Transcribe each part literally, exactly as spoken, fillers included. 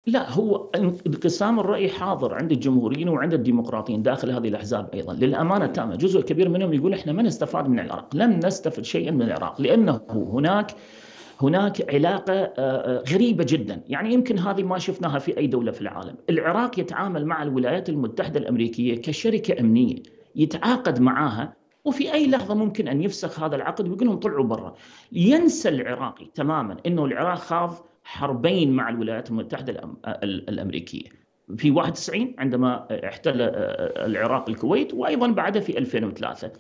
لا، هو انقسام الرأي حاضر عند الجمهوريين وعند الديمقراطيين داخل هذه الأحزاب أيضا للأمانة التامة. جزء كبير منهم يقول إحنا ما نستفاد من العراق، لم نستفد شيئا من العراق، لأنه هناك هناك علاقة غريبة جدا، يعني يمكن هذه ما شفناها في أي دولة في العالم. العراق يتعامل مع الولايات المتحدة الأمريكية كشركة أمنية، يتعاقد معها وفي أي لحظة ممكن أن يفسخ هذا العقد ويقول لهم طلعوا برا. ينسى العراقي تماما أنه العراق خاض حربين مع الولايات المتحدة الأمريكية، في واحد وتسعين عندما احتل العراق الكويت، وأيضا بعدها في ألفين وثلاثة.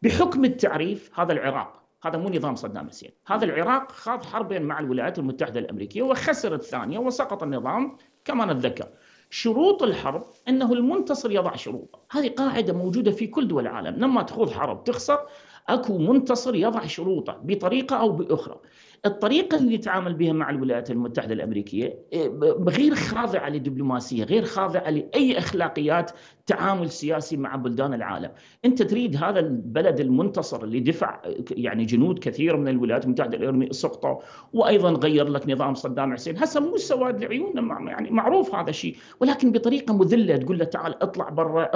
بحكم التعريف هذا العراق، هذا مو نظام صدام حسين، هذا العراق خاض حربين مع الولايات المتحدة الأمريكية وخسر الثانية وسقط النظام كما نتذكر. شروط الحرب أنه المنتصر يضع شروطه، هذه قاعدة موجودة في كل دول العالم، لما تخوض حرب تخسر أكو منتصر يضع شروطه بطريقة أو بأخرى. الطريقة اللي يتعامل بها مع الولايات المتحدة الأمريكية غير خاضعة للدبلوماسية، غير خاضعة لأي أخلاقيات تعامل سياسي مع بلدان العالم. أنت تريد هذا البلد المنتصر اللي دفع يعني جنود كثير من الولايات المتحدة الأمريكية سقطوا، وأيضا غير لك نظام صدام حسين، هسه مو سواد لعيوننا، يعني معروف هذا الشيء، ولكن بطريقة مذلة تقول له تعال اطلع برا،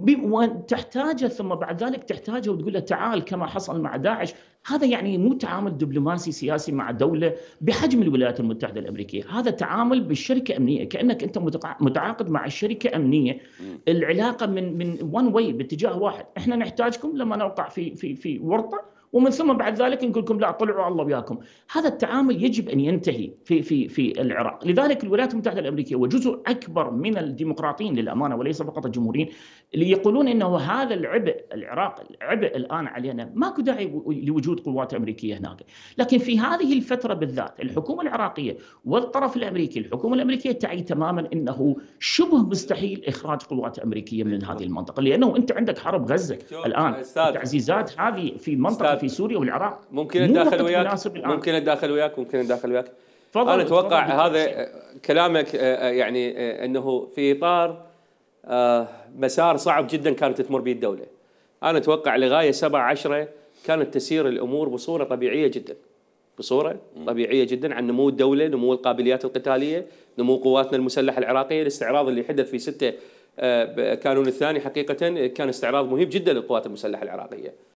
وتحتاجه ثم بعد ذلك تحتاجه وتقول له تعال كما حصل مع داعش. هذا يعني مو تعامل دبلوماسي سياسي مع دولة بحجم الولايات المتحدة الأمريكية، هذا تعامل بالشركة أمنية، كأنك أنت متعاقد مع الشركة أمنية. العلاقة من من وان واي، باتجاه واحد، احنا نحتاجكم لما نوقع في في في ورطة، ومن ثم بعد ذلك نقول لكم لا طلعوا الله وياكم. هذا التعامل يجب ان ينتهي في في في العراق. لذلك الولايات المتحده الامريكيه وجزء اكبر من الديمقراطيين للامانه وليس فقط الجمهوريين اللي يقولون انه هذا العبء العراق العبء الان علينا، ماكو داعي لوجود قوات امريكيه هناك. لكن في هذه الفتره بالذات الحكومه العراقيه والطرف الامريكي، الحكومه الامريكيه تعي تماما انه شبه مستحيل اخراج قوات امريكيه من هذه المنطقه، لانه انت عندك حرب غزه الان، التعزيزات هذه في منطقه في سوريا والعراق. ممكن اتداخل وياك ممكن اتداخل وياك ممكن اتداخل وياك انا اتوقع هذا كلامك يعني انه في اطار مسار صعب جدا كانت تمر به الدوله. انا اتوقع لغايه سبعة عشرة كانت تسير الامور بصوره طبيعيه جدا، بصوره طبيعيه جدا، عن نمو الدوله، نمو القابليات القتاليه، نمو قواتنا المسلحه العراقيه. الاستعراض اللي حدث في ستة كانون الثاني حقيقه كان استعراض مهم جدا للقوات المسلحه العراقيه.